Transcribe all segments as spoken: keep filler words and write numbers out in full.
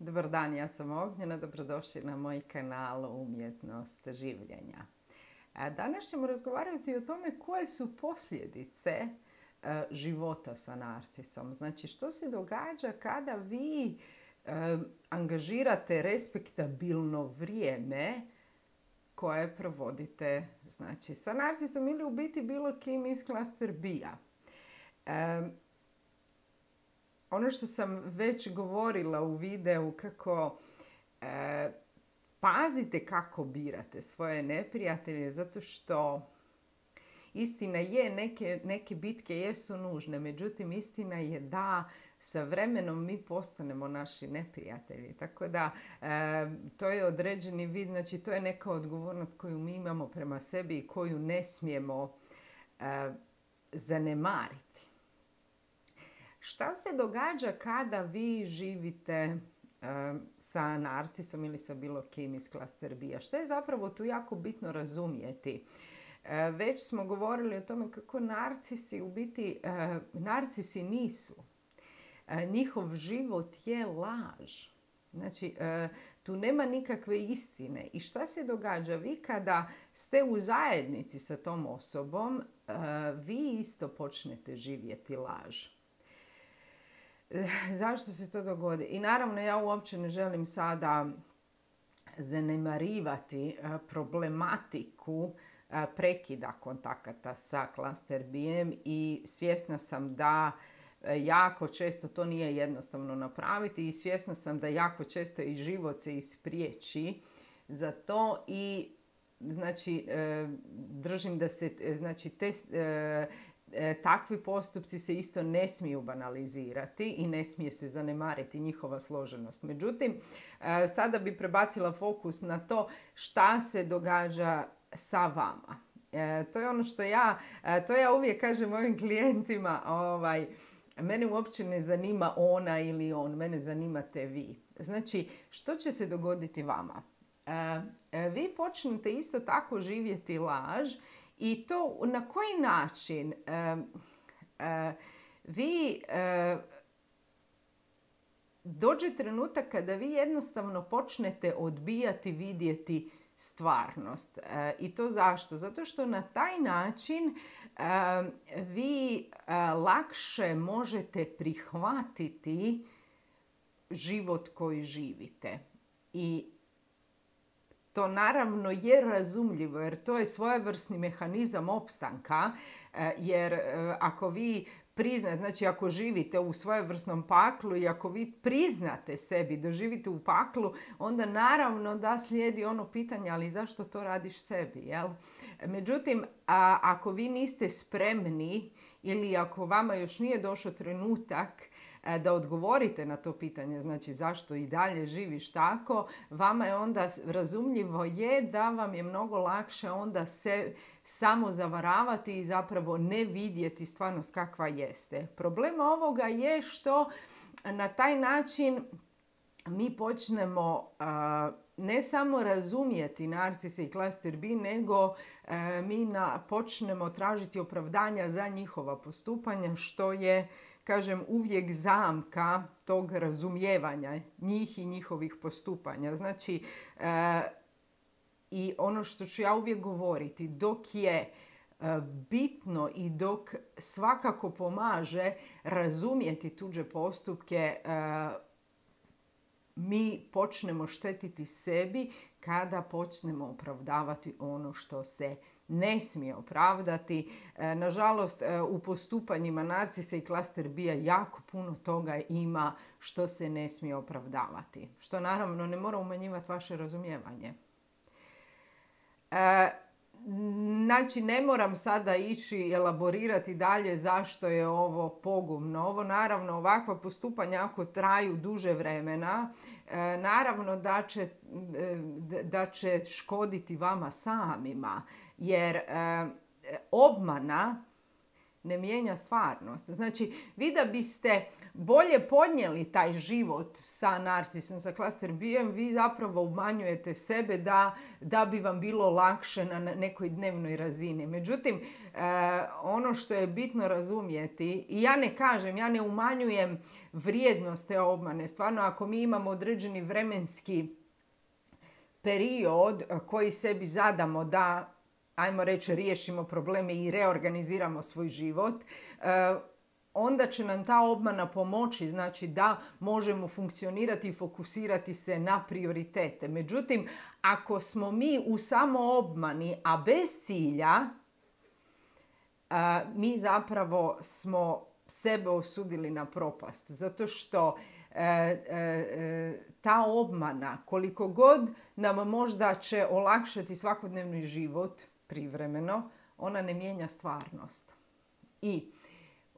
Dobar dan, ja sam Ognjena, dobrodošli na moj kanal Umjetnost življenja. Danas ćemo razgovarati o tome koje su posljedice života sa narcisom. Znači, što se događa kada vi angažirate respektabilno vrijeme koje provodite, znači, sa narcisom ili u biti bilo kim iz klaster B-a. Ono što sam već govorila u videu, kako e, pazite kako birate svoje neprijatelje, zato što istina je, neke, neke bitke jesu nužne, međutim istina je da sa vremenom mi postanemo naši neprijatelji. Tako da e, to je određeni vid, znači to je neka odgovornost koju mi imamo prema sebi i koju ne smijemo e, zanemariti. Šta se događa kada vi živite um, sa narcisom ili sa bilo kim iz klaster B-a? Što je zapravo tu jako bitno razumjeti? Uh, već smo govorili o tome kako narcisi u biti, uh, narcisi nisu. Uh, njihov život je laž. Znači, uh, tu nema nikakve istine. I šta se događa? Vi kada ste u zajednici sa tom osobom, uh, vi isto počnete živjeti laž. Zašto se to dogodi? I naravno ja uopće ne želim sada zanemarivati problematiku prekida kontakata sa klaster B-em i svjesna sam da jako često to nije jednostavno napraviti i svjesna sam da jako često i život se ispriječi za to i znači držim da se znači te takvi postupci se isto ne smiju banalizirati i ne smije se zanemariti njihova složenost. Međutim, sada bi prebacila fokus na to šta se događa sa vama. To je ono što ja, to ja uvijek kažem mojim klijentima, ovaj, mene uopće ne zanima ona ili on, mene zanimate vi. Znači, što će se dogoditi vama? Vi počnete isto tako živjeti laž. I to na koji način uh, uh, vi uh, dođe trenutak kada vi jednostavno počnete odbijati vidjeti stvarnost. Uh, I to zašto? Zato što na taj način uh, vi uh, lakše možete prihvatiti život koji živite. I to naravno je razumljivo jer to je svojevrsni mehanizam opstanka jer ako vi priznate, znači ako živite u svojevrsnom paklu i ako vi priznate sebi da živite u paklu, onda naravno da slijedi ono pitanje ali zašto to radiš sebi, jel? Međutim, a, ako vi niste spremni ili ako vama još nije došao trenutak da odgovorite na to pitanje, znači zašto i dalje živiš tako, vama je onda razumljivo je da vam je mnogo lakše onda se samo zavaravati i zapravo ne vidjeti stvarnost kakva jeste. Problem ovoga je što na taj način mi počnemo uh, ne samo razumjeti narcise i klaster B, nego uh, mi na, počnemo tražiti opravdanja za njihova postupanja, što je, kažem, uvijek zamka tog razumijevanja njih i njihovih postupanja. Znači, e, i ono što ću ja uvijek govoriti, dok je e, bitno i dok svakako pomaže razumjeti tuđe postupke, e, mi počnemo štetiti sebi kada počnemo opravdavati ono što se ne smije opravdati. E, nažalost, e, u postupanjima narcisa i klaster B-a jako puno toga ima što se ne smije opravdavati. Što naravno ne mora umanjivati vaše razumijevanje. E, znači, ne moram sada ići elaborirati dalje zašto je ovo pogubno. Ovo naravno, ovakva postupanja ako traju duže vremena, e, naravno da će, e, da će škoditi vama samima. Jer e, obmana ne mijenja stvarnost. Znači, vi da biste bolje podnijeli taj život sa narcisom, sa cluster B-em, vi zapravo umanjujete sebe da, da bi vam bilo lakše na nekoj dnevnoj razini. Međutim, eh, ono što je bitno razumjeti, i ja ne kažem, ja ne umanjujem vrijednost te obmane. Stvarno, ako mi imamo određeni vremenski period koji sebi zadamo da, ajmo reći, riješimo probleme i reorganiziramo svoj život, onda će nam ta obmana pomoći, znači da možemo funkcionirati i fokusirati se na prioritete. Međutim, ako smo mi u samoobmani, a bez cilja, mi zapravo smo sebe osudili na propast. Zato što E, e, ta obmana, koliko god nam možda će olakšati svakodnevni život privremeno, ona ne mijenja stvarnost. I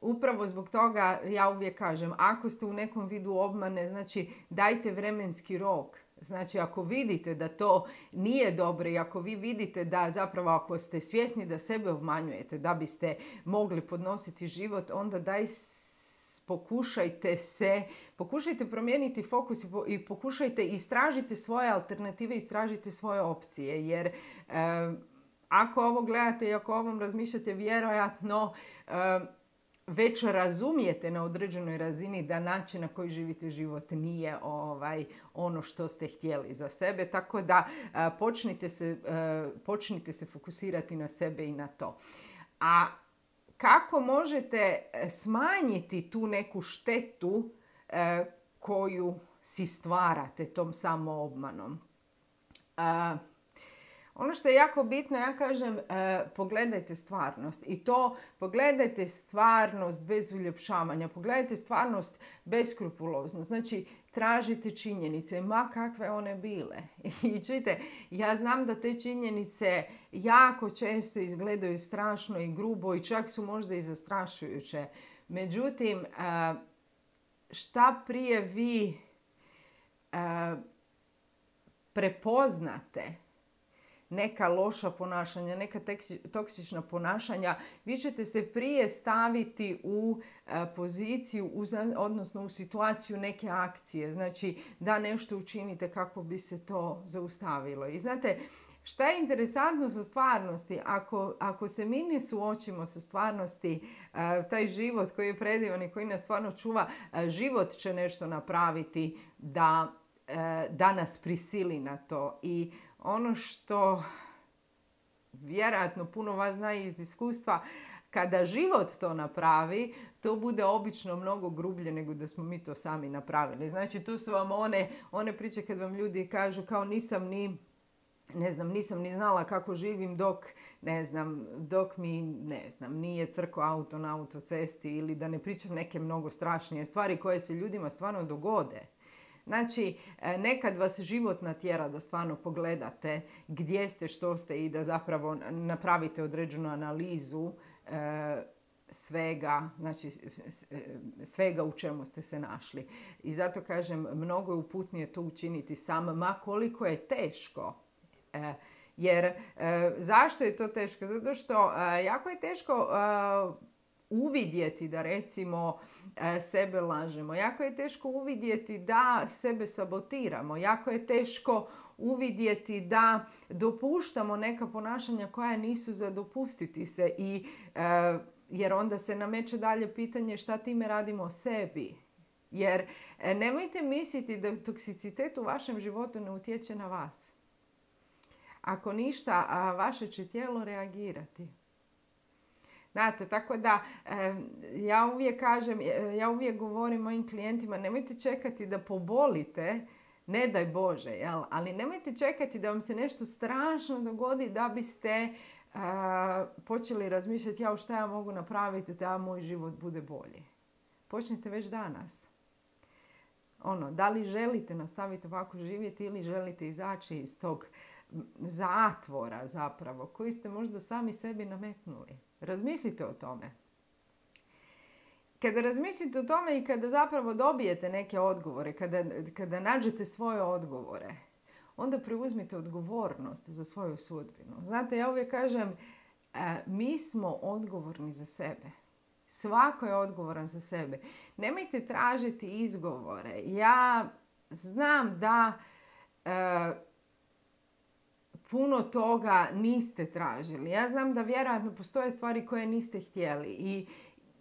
upravo zbog toga ja uvijek kažem, ako ste u nekom vidu obmane, znači dajte vremenski rok. Znači, ako vidite da to nije dobro i ako vi vidite da zapravo ako ste svjesni da sebe obmanjujete da biste mogli podnositi život, onda daj pokušajte se, pokušajte promijeniti fokus i pokušajte istražiti svoje alternative, istražite svoje opcije. Jer e, ako ovo gledate i ako o ovom razmišljate, vjerojatno e, već razumijete na određenoj razini da način na koji živite život nije ovaj, ono što ste htjeli za sebe. Tako da e, počnite se, e, počnite se fokusirati na sebe i na to. A kako možete smanjiti tu neku štetu e, koju si stvarate tom samoobmanom? E, ono što je jako bitno, ja kažem, e, pogledajte stvarnost. I to pogledajte stvarnost bez uljepšavanja. Pogledajte stvarnost beskrupulozno. Znači, tražite činjenice, ma kakve one bile. I čujte, ja znam da te činjenice jako često izgledaju strašno i grubo i čak su možda i zastrašujuće. Međutim, šta prije vi prepoznate neka loša ponašanja, neka toksična ponašanja, vi ćete se prije staviti u poziciju, odnosno u situaciju neke akcije. Znači, da nešto učinite kako bi se to zaustavilo. I znate, šta je interesantno sa stvarnosti? Ako, ako se mi ne suočimo sa stvarnosti, taj život koji je predivan i koji nas stvarno čuva, život će nešto napraviti da, da nas prisili na to. I ono što vjerojatno puno vas zna iz iskustva, kada život to napravi, to bude obično mnogo grublje nego da smo mi to sami napravili. Znači, tu su vam one, one priče kad vam ljudi kažu kao nisam ni, ne znam, nisam ni znala kako živim dok, ne znam, dok mi, ne znam, nije crko auto na autocesti, ili da ne pričam neke mnogo strašnije stvari koje se ljudima stvarno dogode. Znači, nekad vas život natjera da stvarno pogledate gdje ste, što ste i da zapravo napravite određenu analizu e, svega, znači svega u čemu ste se našli. I zato kažem, mnogo je uputnije to učiniti sam, ma koliko je teško. E, jer e, zašto je to teško? Zato što e, jako je teško e, uvidjeti da recimo sebe lažemo. Jako je teško uvidjeti da sebe sabotiramo. Jako je teško uvidjeti da dopuštamo neka ponašanja koja nisu za dopustiti se. I, e, jer onda se nameće dalje pitanje šta time radimo sebi. Jer e, nemojte misliti da toksicitet u vašem životu ne utječe na vas. Ako ništa, a vaše će tijelo reagirati. Znate, tako da ja uvijek kažem, ja uvijek govorim mojim klijentima, nemojte čekati da pobolite, ne daj Bože, jel? Ali nemojte čekati da vam se nešto strašno dogodi da biste uh, počeli razmišljati, ja šta ja mogu napraviti da moj život bude bolji. Počnite već danas. Ono, da li želite nastaviti ovako živjeti ili želite izaći iz tog zatvora zapravo koji ste možda sami sebi nametnuli. Razmislite o tome. Kada razmislite o tome i kada zapravo dobijete neke odgovore, kada, kada nađete svoje odgovore, onda preuzmite odgovornost za svoju sudbinu. Znate, ja uvijek kažem, mi smo odgovorni za sebe. Svako je odgovoran za sebe. Nemojte tražiti izgovore. Ja znam da e, puno toga niste tražili. Ja znam da vjerojatno postoje stvari koje niste htjeli. I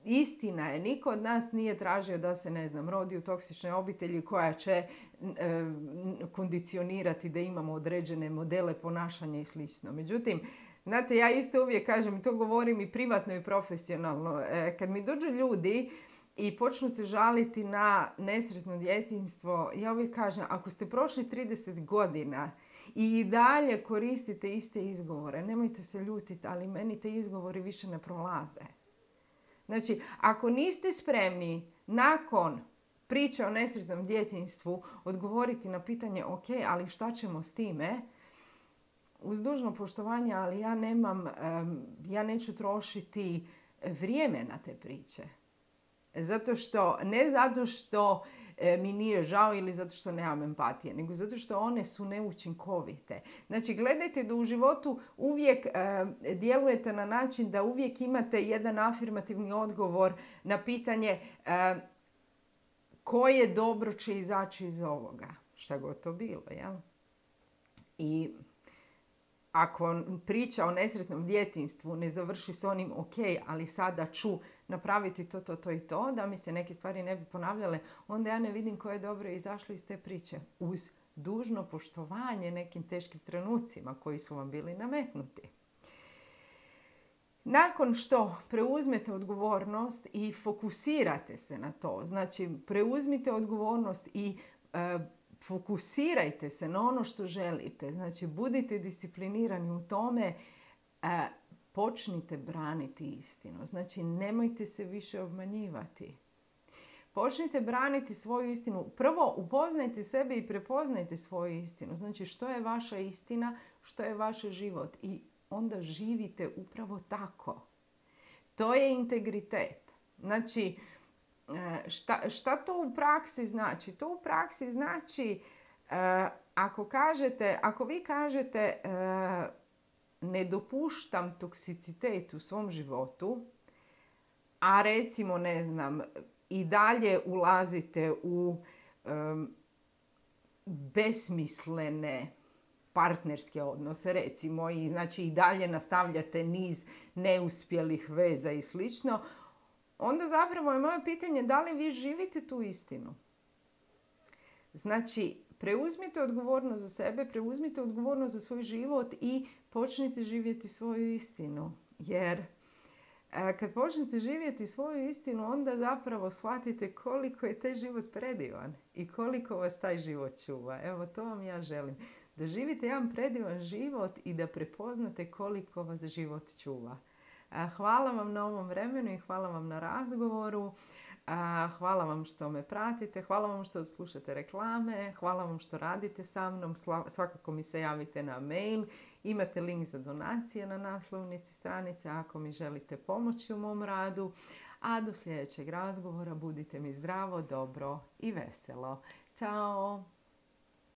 istina je, niko od nas nije tražio da se, ne znam, rodi u toksičnoj obitelji koja će e, kondicionirati da imamo određene modele ponašanja i slično. Međutim, znate, ja isto uvijek kažem, i to govorim i privatno i profesionalno, e, kad mi dođu ljudi i počnu se žaliti na nesretno djetinjstvo, ja uvijek kažem, ako ste prošli trideset godina i dalje koristite iste izgovore, nemojte se ljutiti, ali meni te izgovori više ne prolaze. Znači, ako niste spremni nakon priče o nesretnom djetinjstvu odgovoriti na pitanje, ok, ali šta ćemo s time, uz dužno poštovanje, ali ja nemam, ja neću trošiti vrijeme na te priče. Zato što, ne zato što mi nije žao ili zato što nemam empatije, nego zato što one su neučinkovite. Znači, gledajte da u životu uvijek djelujete na način da uvijek imate jedan afirmativni odgovor na pitanje koje dobro će izaći iz ovoga. Šta god to bilo, jel? I ako priča o nesretnom djetinjstvu ne završi s onim ok, ali sada ću napraviti to, to, to i to, da mi se neke stvari ne bi ponavljale, onda ja ne vidim koje je dobro izašlo iz te priče. Uz dužno poštovanje nekim teškim trenucima koji su vam bili nametnuti. Nakon što preuzmete odgovornost i fokusirate se na to, znači preuzmite odgovornost i e, fokusirajte se na ono što želite. Znači, budite disciplinirani u tome, e, počnite braniti istinu. Znači, nemojte se više obmanjivati. Počnite braniti svoju istinu. Prvo, upoznajte sebe i prepoznajte svoju istinu. Znači, što je vaša istina, što je vaš život. I onda živite upravo tako. To je integritet. Znači, Šta, šta to u praksi znači? To u praksi znači uh, ako kažete, ako vi kažete uh, ne dopuštam toksicitet u svom životu, a recimo, ne znam, i dalje ulazite u um, besmislene partnerske odnose, recimo, i znači i dalje nastavljate niz neuspjelih veza i slično, onda zapravo je moje pitanje da li vi živite tu istinu. Znači, preuzmite odgovornost za sebe, preuzmite odgovornost za svoj život i počnite živjeti svoju istinu. Jer kad počnete živjeti svoju istinu, onda zapravo shvatite koliko je taj život predivan i koliko vas taj život čuva. Evo, to vam ja želim. Da živite jedan predivan život i da prepoznate koliko vas život čuva. Hvala vam na ovom vremenu i hvala vam na razgovoru. Hvala vam što me pratite, hvala vam što slušate reklame, hvala vam što radite sa mnom. Svakako mi se javite na mail. Imate link za donacije na naslovnici stranice ako mi želite pomoći u mom radu. A do sljedećeg razgovora budite mi zdravo, dobro i veselo. Ćao!